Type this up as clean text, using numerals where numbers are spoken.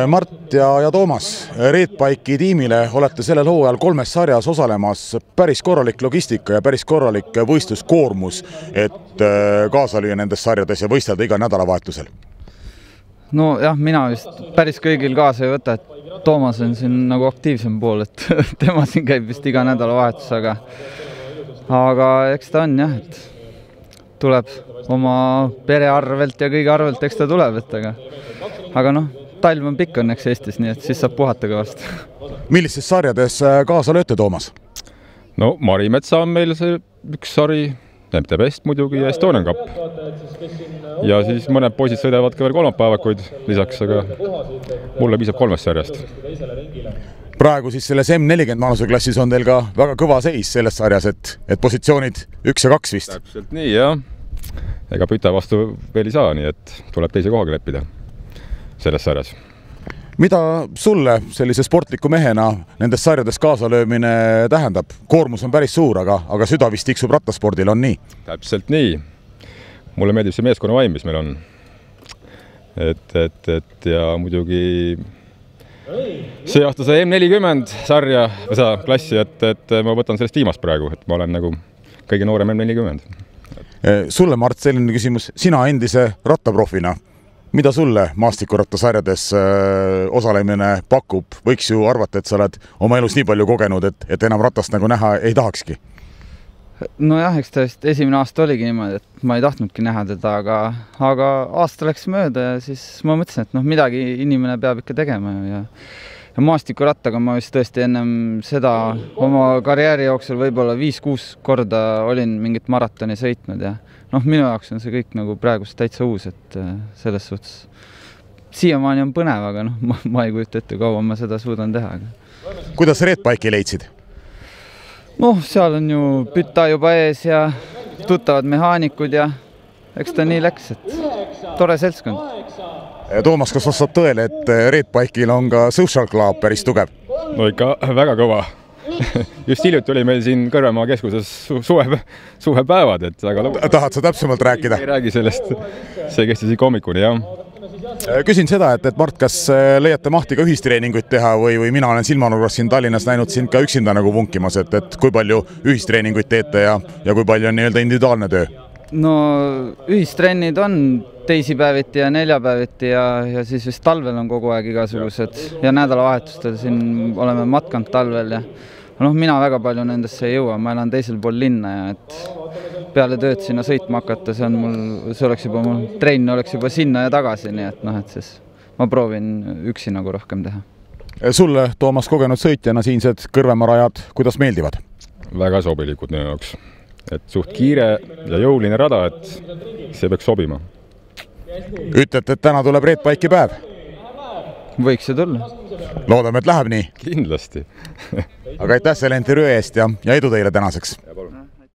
Mart ja Toomas, Redbike'i tiimile olete sellel hooajal 3 sarjas osalemas, päris korralik logistika ja päris korralik võistluskoormus, et kaasa lüüa nendes sarjades ja võistelda iga nädalavahetusel. No jah, mina vist päris kõigil kaasa ei võta, et Toomas on siin nagu aktiivsem pool, et tema siin käib vist iga nädalavahetus, aga eks ta on jah, et tuleb oma pere arvelt ja kõige arvelt, eks ta tuleb, aga noh, talv on pikk õnneks Eestis, nii et siis saab puhata kõvasti. Millistes sarjades kaasa lööte, Toomas? No Marimetsa on meil see üks sari, MT Best muidugi ja Estonian Cup. Ja siis mõned poisid sõidavad ka veel kolmapäevakuid lisaks, aga mulle piisab 3 sarjast. Praegu siis selles M40 vanuseklassis on teil ka väga kõva seis selles sarjas, et positsioonid 1 ja 2 vist. Täpselt nii, jah. Ega püta vastu veel ei saa, nii et tuleb teise kohaga leppida selles sarjas. Mida sulle sellise sportliku mehena nendes sarjades kaasalöömine tähendab? Koormus on päris suur, aga süda vist tiksub rattaspordil, on nii? Täpselt nii. Mulle meeldib see meeskonna vaim, mis meil on. Ja muidugi see aasta see M40 sarja, klassi, et ma võtan sellest viimast praegu, et ma olen nagu kõige noorem M40. Sulle, Mart, selline küsimus. Sina endise rattaprofina, mida sulle maastikurattasarjades osalemine pakub? Võiks ju arvata, et sa oled oma elus nii palju kogenud, et enam ratast nagu näha ei tahakski. No jah, eks ta vist esimene aasta oligi niimoodi, et ma ei tahtnudki näha teda, aga aasta läks mööda ja siis ma mõtlesin, et midagi inimene peab ikka tegema ja maastikurattaga ma vist tõesti ennem seda oma karjääri jooksul võib-olla 5-6 korda olin mingit maratoni sõitnud ja minu jaoks on see kõik nagu praegust täitsa uus, et selles suhtes siiamaani on põnev, aga ma ei kujuta ette, kaua ma seda suudan teha. Kuidas Redbike'i leidsid? Seal on ju püta juba ees ja tuttavad mehaanikud ja eks ta nii läks, et tore seltskond. Toomas, kas vastab tõele, et Redbike'il on ka social club päris tugev? No ikka väga kõva. Just hiljuti oli meil siin Kõrvemaa keskuses suvepäevad, et aga tahad sa täpsemalt rääkida? Ei räägi sellest, see kestis ikka hommikuni, jah. Küsin seda, et Mart, kas leiate mahti ka ühistreeninguid teha või mina olen silmanurgas siin Tallinnas näinud sind ka üksinda nagu vunkimas, et kui palju ühistreeninguid teete ja kui palju on nii-öelda individuaalne töö? No ühistrennid on teisipäeviti ja neljapäeviti ja siis vist talvel on kogu aeg igasugused ja nädalavahetustel siin oleme matkanud talvel ja mina väga palju nendesse ei jõua, ma elan teisel pool linna ja et peale tööd sinna sõitma hakata, see oleks juba mul trenn oleks juba sinna ja tagasi, nii et siis ma proovin üksi nagu rohkem teha. Sulle, Toomas, kogenud sõitjana siinsed Kõrvemaa rajad, kuidas meeldivad? Väga sobilikud minu jaoks, et suht kiire ja jõuline rada, et see peaks sobima. Ütlete, et täna tuleb Redbike'i päev? Võiks see tulla. Loodame, et läheb nii? Kindlasti. Aga aitäh selle intervjuu eest ja edu teile tänaseks!